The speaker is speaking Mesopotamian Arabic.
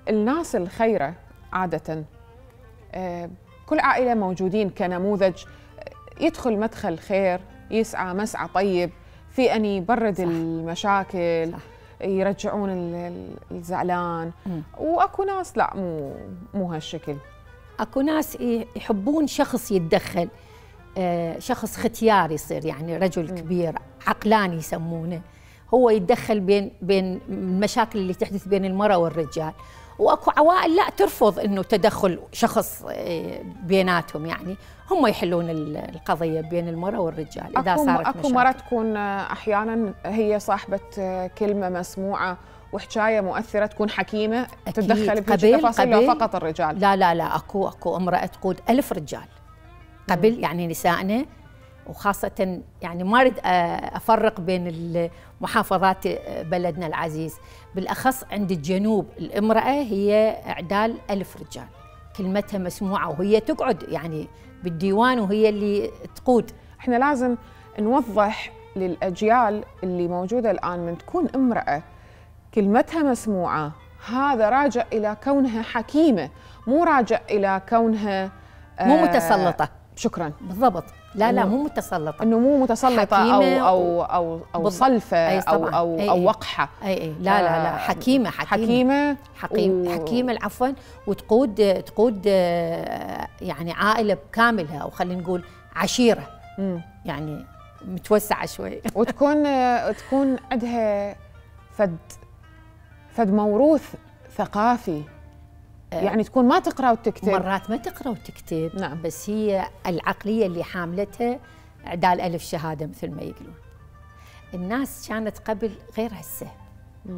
الناس الخيرة عادة كل عائلة موجودين كنموذج، يدخل مدخل خير، يسعى مسعى طيب في أن يبرد صح. المشاكل صح. يرجعون الزعلان. وأكو ناس لا مو هالشكل. أكو ناس يحبون شخص يتدخل، شخص ختيار يصير، يعني رجل كبير عقلاني يسمونه، هو يتدخل بين المشاكل اللي تحدث بين المرأة والرجال. واكو عوائل لا ترفض انه تدخل شخص بيناتهم، يعني هم يحلون القضيه بين المراه والرجال اذا صارت اكو مرة تكون احيانا هي صاحبه كلمه مسموعه وحكايه مؤثره، تكون حكيمه تتدخل بتفاصيل لو فقط الرجال. لا لا لا، اكو امراه تقود 1000 رجال قبل، يعني نسائنا، وخاصة يعني ما أريد أفرق بين محافظات بلدنا العزيز، بالأخص عند الجنوب الامرأة هي إعدال 1000 رجال، كلمتها مسموعة وهي تقعد يعني بالديوان وهي اللي تقود. إحنا لازم نوضح للأجيال اللي موجودة الآن، من تكون امرأة كلمتها مسموعة هذا راجع إلى كونها حكيمة، مو راجع إلى كونها مو متسلطة. شكراً. بالضبط. لا لا، مو متسلطة، انه مو متسلطة او صلفة او وقحة. اي لا لا لا، حكيمة حكيمة العفوا، وتقود يعني عائلة بكاملها، او خلينا نقول عشيرة يعني متوسعة شوي وتكون عندها فد موروث ثقافي، يعني تكون ما تقرأ وتكتب، مرات ما تقرأ وتكتب. نعم. بس هي العقلية اللي حاملتها إعدال 1000 شهادة مثل ما يقولون. الناس كانت قبل غير هسه.